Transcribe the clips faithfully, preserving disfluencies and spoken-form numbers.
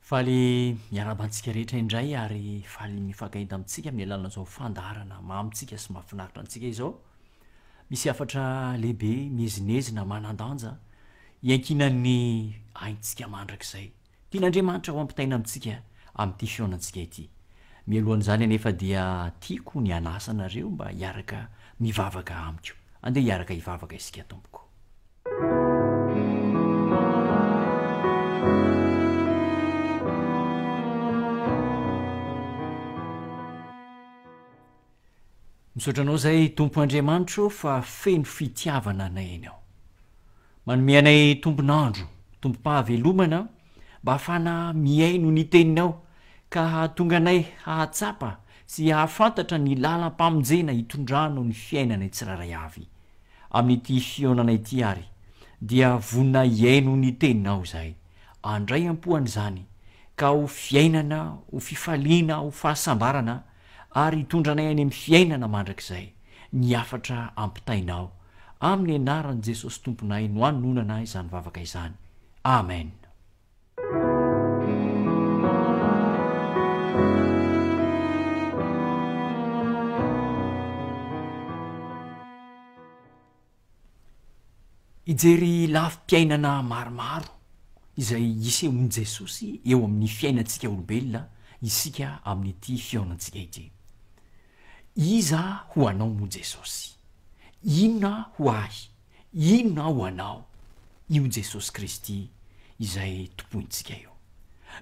Faly miarahaba antsika rehetra indray ary faly mifankahita amintsika amin'ny alalan'izao fandaharana mamintsika sy mahafinaritra antsika izao. Misy hafatra lehibe miezinezina manan-danja iankinan'ny aintsika mandrakizay. Tian'Andriamanitra ho ampitaina amintsika amin'ity fihaonantsika ity. Mialohan'izany anefa dia tiako ny hanasa anareo mba hiaraka mivavaka amiko. Andeha hiaraka hivavaka isika tompoko. Misaotra anao zay Tompo Andriamanitro fa feno fitiavana anay ianao. Manome anay tombon'andro, tombom-pahavelomana mba hahafahana mihaino ny teninao ka hahatonga anay hahatsapa sy hahafantatra ny lalam-pamonjena hitondranao ny fiainanay tsirairay avy. Amin'ity fihaonana ity ary dia vonona hihaino ny teninao izahay. Andray am-po an'izany ka ho fiainana, ho fifaliana, ho fahasambarana ary hitondra anay any amin'ny fiainana mandrakizay ny hafatra ampitainao. Amin'ny anaran'i Jesosy Tomponay no anononana izany vavaka izany. Amen. Hijery lafim-piainana maromaro izay isehoan'i Jesosy eo amin'ny fiainantsika olombelona isika amin'ity fihaonantsika ity. Iza ho anao moa Jesosy? Inona ho ahy? Inona ho anao? Io Jesosy Kristy izay tompointsika io.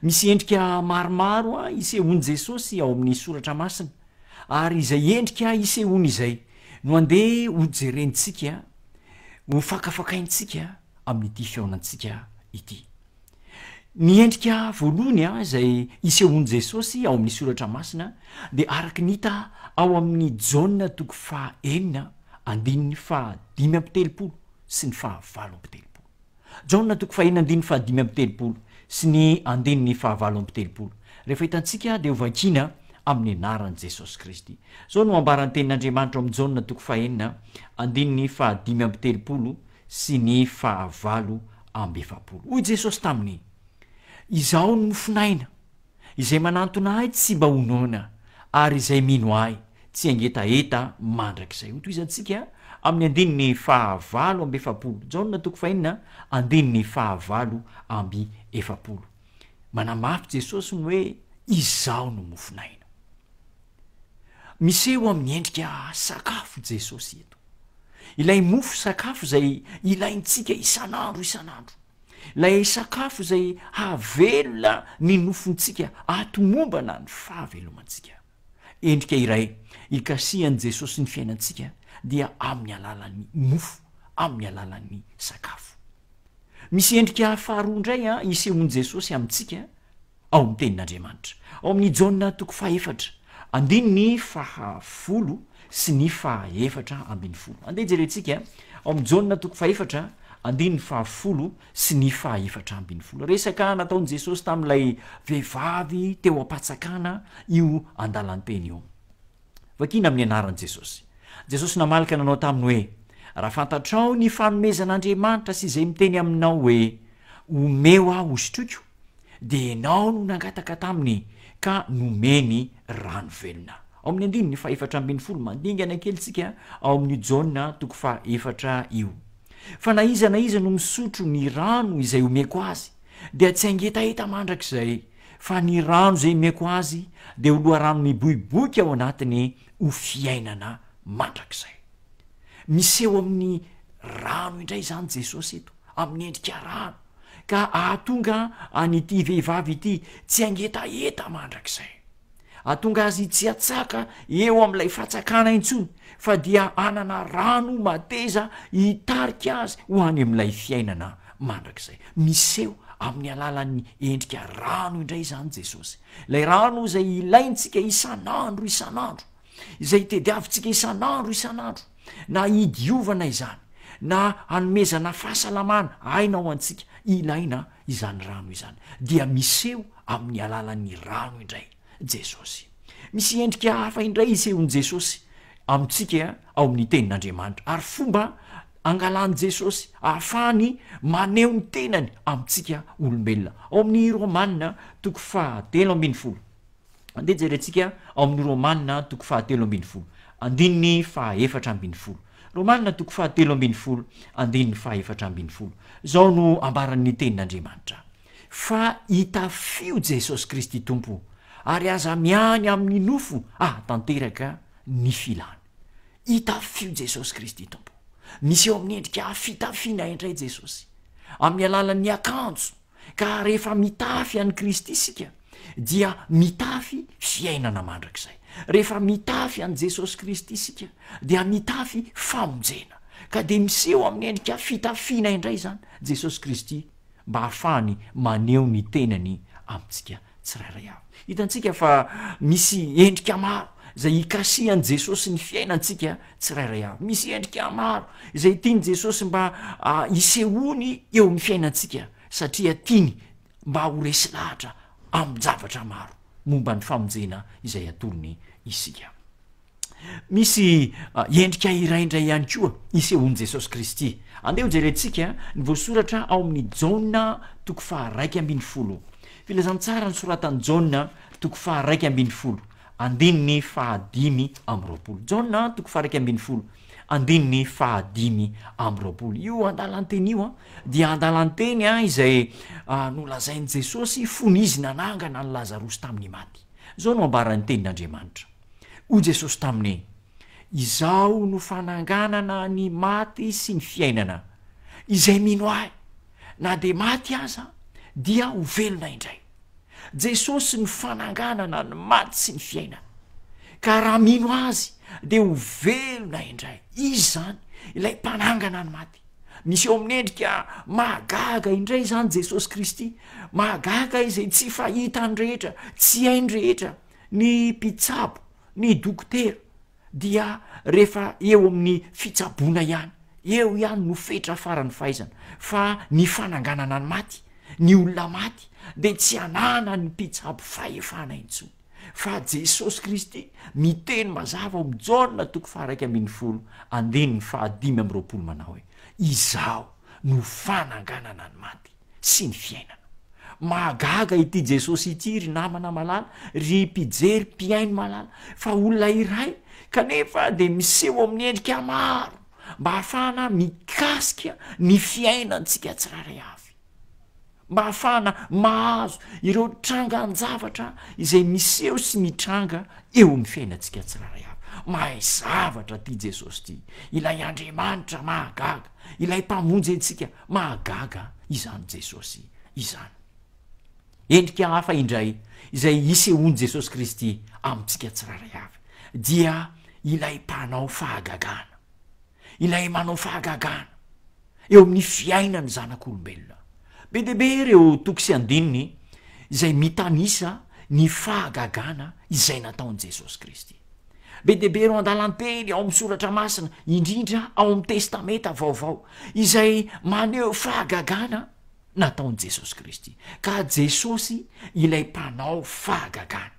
Misy endrika maromaro isehoan'i Jesosy ao amin'ny Soratra Masina, ary izay endrika isehoany izay no andeha hojerentsika, ho fakafakaintsika amin'ity fihaonantsika ity. Ny endrika voalohany izay isehoan'i Jesosy ao amin'ny Soratra Masina dia araka ny hita ao amin'ny Jaona toko fahaenina andininy fahadimy amby telopolo sy ny fahavalo amby telopolo. Jaona toko fahenina andininy fahadimy amby telopolo sy ny andininy fahavalo amby telopolo. Rehefa hitantsika dia hovakiana amin'ny anaran'i Jesosy Kristy. Izao no ambaran'ny tenin'Andriamanitra ao amin'ny Jaona toko fahenina andininy fahadimy amby telopolo sy ny fahavalo amby efapolo. Hoy Jesosy taminy: Izaho no mofon'aina, izay manantona ahy tsy mba ho noana, ary izay mino ahy tsy hangetaheta mandrakizay. Hotohizantsika amin'ny andininy fahavalo amby efapolo. Jaona toko fahenina andininy fahavalo amby efapolo. Manamafy Jesosy ny hoe izaho no mofon'aina. Miseho amin'ny endrika sakafo Jesosy eto. Ilay mofo sakafo izay ilaintsika isan'andro isan'andro. Ilay sakafo izay hahavelona ny nofontsika, hahatomombana ny fahavelomantsika. Endrika iray ikasihan'i Jesosy ny fiainantsika dia amin'ny alalan'ny mofo, amin'ny alalan'ny sakafo. Misy endrika faharoa indray isehoan'i Jesosy amintsika ao amin'ny tenin'Andriamanitra. Ao amin'ny Jaona toko fahefatra, andininy fahafolo sy ny fahaefatra ambin'ny folo. Andeha jerentsika ao amin'ny Jaona toko fahefatra, andininy fahafolo sy ny fahaefatra ambin'ny folo. Resaka nataon'i Jesosy tamin'ilay vehivavy teo am-patsakana io andalan-teny io. Vakina amin'ny anaran'i Jesosy. Jesosy namaly ka nanao taminy hoe: Raha fantatrao ny fanomezan'Andriamanitra sy izay miteny aminao hoe, Omeo aho hosotroiko, dia ianao no nangataka taminy ka nomeny rano velona. Ao amin'ny andininy fahefatra ambin'ny folo, mandingana kely tsika ao amin'io Jaona toko fahefatra io. Fa na iza na iza no misotro ny rano izay omeko azy, dia tsy hangetaheta mandrakizay, fa ny rano izay omeko azy dia ho loharano miboiboika ao anatiny ho fiainana mandrakizay. Miseho amin'ny rano indray izany Jesosy eto, amin'ny endrika rano, ka hahatonga an'ity vehivavy ity tsy hangetaheta mandrakizay. Hahatonga azy tsy hatsaka eo amin'ilay fatsakana intsony, fa dia hanana rano mateza hitarika azy ho any amin'ilay fiainana mandrakizay. Miseho amin'ny alalan'ny endrika rano indray izany Jesosy. Ilay rano izay ilaintsika isan'andro isan'andro, izay tediavintsika isan'andro isan'andro, na hidiovana izany, na hanomezana fahasalamana aina ho antsika, ilaina izany rano izany. Dia miseho amin'ny alalan'ny rano indray Jesosy. Misy endrika hafa indray isehoan'i Jesosy amintsika ao amin'ny tenin'Andriamanitra, ary fomba angalan'i Jesosy ahafahany maneho ny tenany amintsika olombelona. Ao amin'ny Romana toko fahatelo ambin'ny folo. Andeha jerentsika ao amin'ny Romana toko fahatelo ambin'ny folo, andininy fahaefatra ambin'ny folo. Romana toko fahatelo ambin'ny folo, andininy fahaefatra ambin'ny folo. Izao no ambaran'ny tenin'Andriamanitra: Fa itafio Jesosy Kristy Tompo, ary aza miany amin'ny nofo ahatanteraka ny filany. Itafio Jesosy Kristy Tompo. Miseho amin'ny endrika fitafiana indray Jesosy, amin'ny alalan'ny akanjo, ka rehefa mitafy an'i Kristy isika dia mitafy fiainana mandrakizay. Rehefa mitafy an'i Jesosy Kristy isika dia mitafy famonjena. Ka dia miseho amin'ny endrika fitafiana indray izany Jesosy Kristy mba hahafahany maneho ny tenany amintsika tsirairay avy. Hitantsika fa misy endrika maro izay ikasihan'i Jesosy ny fiainantsika tsirairay avy. Misy endrika maro izay tian'i Jesosy mba hisehoany eo amin'ny fiainantsika, satria tiany mba ho resy lahatra amin-javatra maro momba ny famonjena izay atolony isika. Misy endrika iray indray ihany koa isehoan'i Jesosy Kristy. Andeha hojerentsika ny voasoratra ao amin'ny Jaona toko faharaika ambin'ny folo. Filazantsara nosoratan'i Jaona toko faharaika ambin'ny folo, andininy fahadimy amby roapolo. Jaona toko faharaika ambin'ny folo, andininy fahadimy amby roapolo. Io andalan-teny io dia andalan-teny izay nolazain'i Jesosy fony izy nanangana an'i Lazarosy tamin'ny maty. Izao no ambaran'ny tenin'Andriamanitra. Hoy Jesosy taminy, Izaho no fananganana ny maty sy ny fiainana. Izay mino Ahy, na dia maty aza, dia ho velona indray. Jesosy no fananganana ny maty sy ny fiainana. Ka raha mino Azy, dia ho velona indray. Izy izany, ilay mpanangana ny maty. Miseho amin'ny endrika mahagaga indray izany Jesosy Kristy. Mahagaga izay tsy fahitany rehetra, tsy hainy rehetra. Ny mpitsabo, ny dokotera dia rehefa eo amin'ny fitsaboana ihany, eo ihany no fetra faran'ny fahaizana, fa ny fananganana ny maty, ny olona maty dia tsy ananan'ny mpitsabo fahefana intsony. Fa Jesosy Kristy miteny mazava ao amin'ny Jaona toko faha-iraika ambin'ny folo andininy fahadimy amby roapolo manao hoe, Izaho no fananganana ny maty sy ny fiainana. Mahagaga ity Jesosy ity ry namana malala, ry mpijery mpihaino malala, fa olona iray kanefa dia miseho amin'ny endrika maro mba hahafahana mikasika ny fiainantsika tsirairay avy, mba hahafahana mahazo ireo trangan-javatra izay miseho sy mitranga eo amin'ny fiainantsika tsirairay avy. Mahay zavatra ity Jesosy ity, ilay Andriamanitra mahagaga, ilay Mpamonjy antsika mahagaga izany Jesosy izany. Endrika hafa indray izay isehoan'i Jesosy Kristy amintsika tsirairay avy dia ilay mpanao fahagagana, ilay manao fahagagana eo amin'ny fiainan'ny zanak'olombelona. Be dia be ireo toko sy andininy izay mitanisa ny fahagagana izay nataon'i Jesosy Kristy. Be dia be ireo andalan-teny ao amin'ny Soratra Masina, indrindra ao amin'ny Testamenta Vaovao, izay maneho fahagagana nataon'i Jesosy Kristy. Ka Jesosy ilay mpanao fahagagana.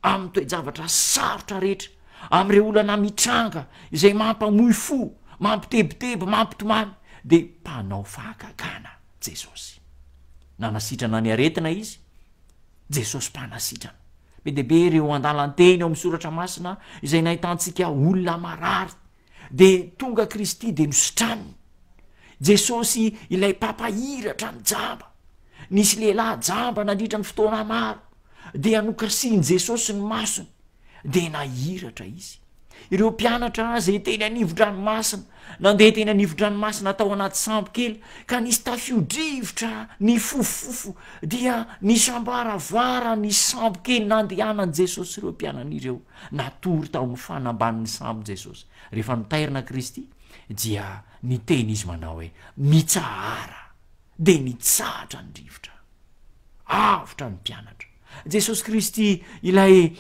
Amin'ny toe-javatra sarotra rehetra, amin'ireo olana mitranga izay mampamoy fo, mampitebiteby, mampitomany, dia mpanao fahagagana Jesosy. Nanasitrana ny aretina Izy, Jesosy mpanasitrana. Be dia be ireo andalan-teny ao amin'ny Soratra Masina izay nahitantsika olona marary, dia tonga Kristy dia nositraniny. Jesosy ilay mpampahiratra ny jamba. Nisy lehilahy jamba nandritra ny fotoana maro, dia nokasihin'i Jesosy ny masony, dia nahiratra izy. Ireo mpianatra izay teny anivon-dranomasina, nandeha teny anivon-dranomasina tao anaty sambo kely, ka nisy tafio-drivotra nifofofofo, dia nisamboaravoara ny sambo kely nandehanan'i Jesosy sy ireo mpianany ireo. Natory tao amin'ny fanambanin'ny sambo Jesosy. Rehefa notairina Kristy, dia niteny Izy manao hoe, Mitsahara! Dia nitsahatra ny rivotra. Avotra ny mpianatra. Jesosy Kristy ilay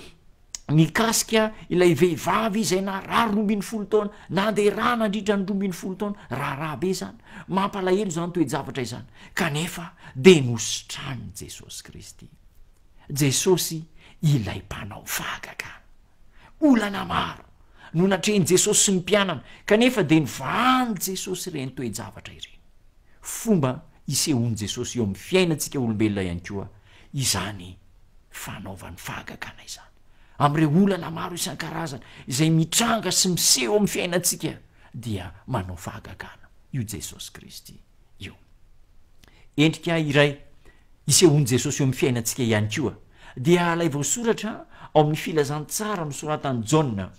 nikasika ilay vehivavy izay narary roa ambin'ny folo taona, nandeha rà nandritra ny roa ambin'ny folo taona, raharaha be izany, mampalahelo izany toe-javatra izany, kanefa dia nositranin'i Jesosy Kristy. Jesosy ilay mpanao fahagagana. Olana maro no natrehin'i Jesosy sy ny mpianany, kanefa dia novahan'i Jesosy ireny toe-javatra ireny. Fomba isehoan'i Jesosy eo amin'ny fiainantsika olombelona ihany koa izany fanaovany fahagagana izany. Amin'ireo olana maro isan-karazany izay mitranga sy miseho amin'ny fiainantsika dia manao fahagagana io Jesosy Kristy io. Endrika iray isehoan'i Jesosy eo amin'ny fiainantsika ihany koa dia ilay voasoratra ao amin'ny Filazantsara nosoratan'i Jaona.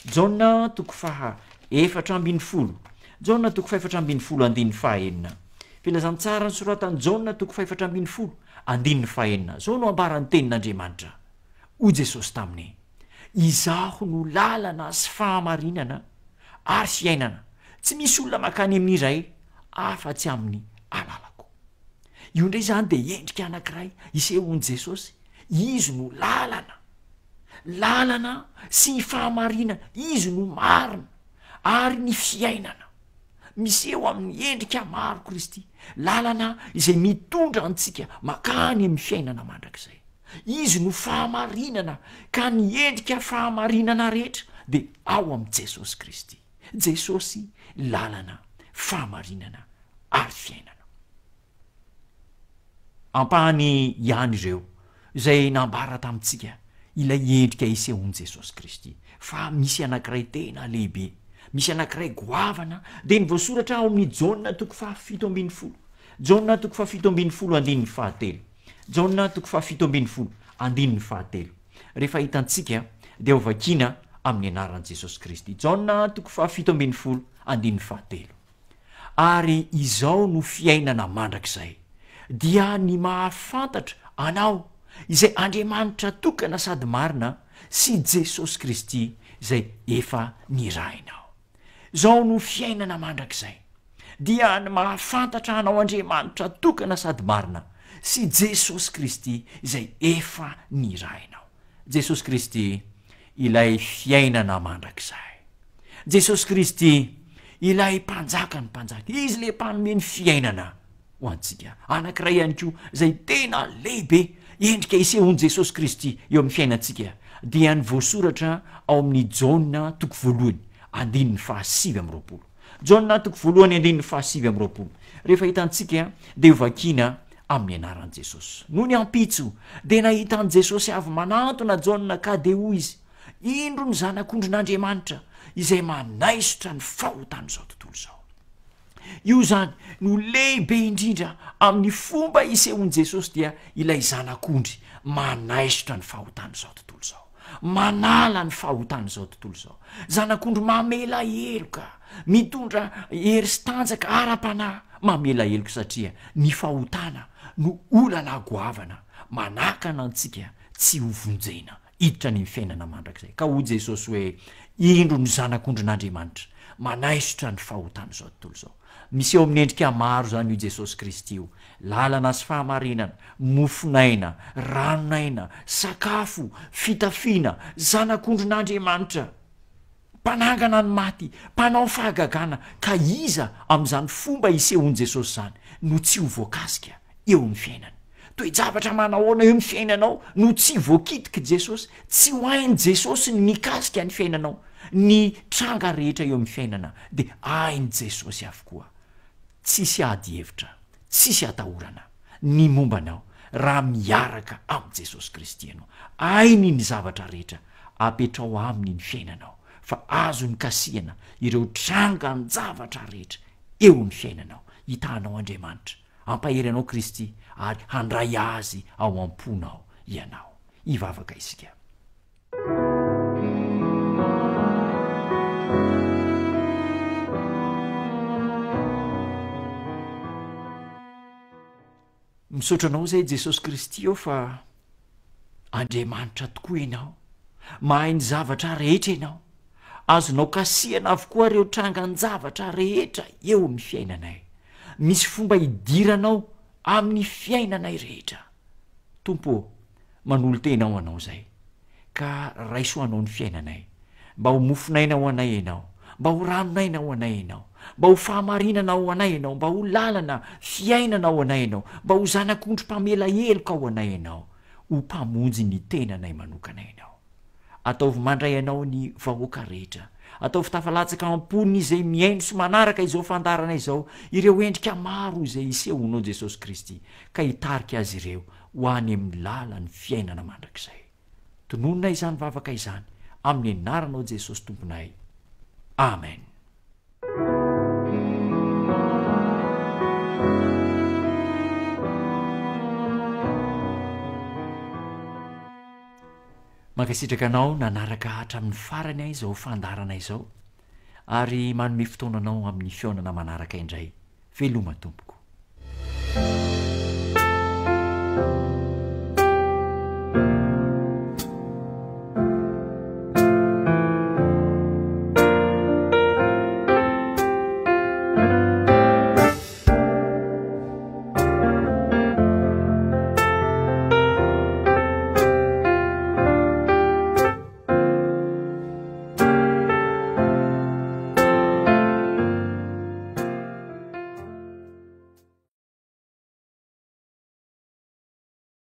Jaona toko faha efatra ambin'ny folo. Jaona toko fahefatra ambin'ny folo andininy fahaenina. Filazantsara nosoratan'i Jaona toko fahefatra ambin'ny folo andininy fahaenina. Izao no ambaran'ny tenin'Andriamanitra. Hoy Jesosy taminy, Izaho no lalana sy fahamarinana ary fiainana. Tsy misy olona mankany amin'ny Ray afa-tsy amin'ny alalako. Io indray izany dia endrika anankiray isehoan'i Jesosy. Izy no lalana. Lalana sy fahamarinana. Izy no marina ary ny fiainana. Miseho amin'ny endrika maro Kristy. Lalana izay mitondra antsika mankany amin'ny fiainana mandrakizay. Izy no fahamarinana, ka ny endrika fahamarinana rehetra dia ao amin'i Jesosy Kristy. Jesosy lalana, fahamarinana ary fiainana. Ampahany ihany ireo izay nambara tamintsika ilay endrika isehoan'i Jesosy Kristy. Fa misy anankiray tena lehibe, misy anankiray goavana, dia ny voasoratra ao amin'ny Jaona toko fahafito ambin'ny folo. Jaona toko fahafito ambin'ny folo andininy fahatelo. Jaona toko fahafito ambin'ny folo andininy fahatelo. Rehefa hitantsika dia hovakiana amin'ny anaran'i Jesosy Kristy. Jaona toko fahafito ambin'ny folo andininy fahatelo. Ary izao no fiainana mandrakizay, dia ny mahafantatra Anao, izay Andriamanitra tokana sady marina, sy Jesosy Kristy izay efa nirahinao. Izao no fiainana mandrakizay, dia ny mahafantatra Anao Andriamanitra tokana sady marina, sy Jesosy Kristy izay efa nirahinao. Jesosy Kristy ilay fiainana mandrakizay. Jesosy Kristy ilay Mpanjakan'ny mpanjaka. Izy ilay mpanome ny fiainana ho antsika. Anankiray ihany koa izay tena lehibe endrika isehoan'i Jesosy Kristy eo amin'ny fiainantsika dia ny voasoratra ao amin'ny Jaona toko voalohany andininy fahasivy amby roapolo. Jaona toko voalohany andininy fahasivy amby roapolo. Rehefa hitantsika dia hovakiana amin'ny anaran'i Jesosy. Nony ampitso dia nahita an'i Jesosy avy manantona Jaona ka dia hoy izy, Indro ny Zanak'ondrin'Andriamanitra izay manaisotra ny fahotan'izao tontolo izao. Io izany no lehibe indrindra amin'ny fomba isehoan'i Jesosy dia ilay Zanak'ondry manaisotra ny fahotan'izao tontolo izao, manala ny fahotan'izao tontolo izao. Zanak'ondry mamela heloka, mitondra hery sy tanjaka ara-panahy, mamela heloka satria ny fahotana no olana goavana manakana antsika tsy ho vonjena hiditra any amin'ny fiainana mandrakizay. Ka hoy Jesosy hoe, Indro ny Zanak'ondrin'Andriamanitra, manaisotra ny fahotan'izao tontolo izao. Miseho amin'ny endrika maro izany io Jesosy Kristy io, lalana sy fahamarinana, mofon'aina, ranon'aina, sakafo, fitafiana, Zanak'ondrin'Andriamanitra, mpanangana ny maty, mpanao fahagagana, ka iza amin'izany fomba isehoan'i Jesosy izany no tsy ho voakasika eo amin'ny fiainany? Toe-javatra manahoana eo amin'ny fiainanao no tsy voakitik'i Jesosy? Tsy ho hain'i Jesosy ny mikasika ny fiainanao. Ny tranga rehetra eo amin'ny fiainana dia hain'i Jesosy avokoa. Tsisy ady hevitra, tsisy atahorana ny momba anao raha miaraka amin'i Jesosy Kristy ianao. Hainy ny zavatra rehetra, apetraho aminy ny fiainanao fa azony kasihana ireo trangan-javatra rehetra eo amin'ny fiainanao. Hitahanao Andriamanitra, hampahery anao Kristy ary handray Azy ao am-ponao ianao. Hivavaka isika. Misaotra anao izay Jesosy Kristy ô fa Andriamanitra tokoa ianao, mahay ny zavatra rehetra ianao, azonao kasihana avokoa ireo trangan-javatra rehetra eo amin'ny fiainanay. Misy fomba hidiranao amin'ny fiainanay rehetra. Tompo ô, manolo-tena ho anao izay. Ka raiso ho anao ny fiainanay. Mba ho mofon'aina ho anay Ianao. Mba ho ranon'aina ho anay Ianao. Mba ho fahamarinana ho anay Ianao. Mba ho lalana, fiainana ho anay Ianao. Mba ho zanak'ondry mpamela heloka ho anay Ianao. Ho Mpamonjy ny tenanay manokana Ianao. Ataovy mandray Anao ny vahoaka rehetra. Ataovy tafalatsaka am-pony izay mihaino sy manaraka izao fandaharana izao ireo endrika maro izay isehoanao Jesosy Kristy ka hitarika azy ireo ho any amin'ny lalan'ny fiainana mandrakizay. Tononina izany vavaka izany amin'ny anaranao Jesosy Tomponay. Amen. Mankasitraka anao nanaraka hatramin'ny farany izao fandaharana izao ary manome fotoana anao amin'ny fihaonana manaraka indray. Veloma tompoko.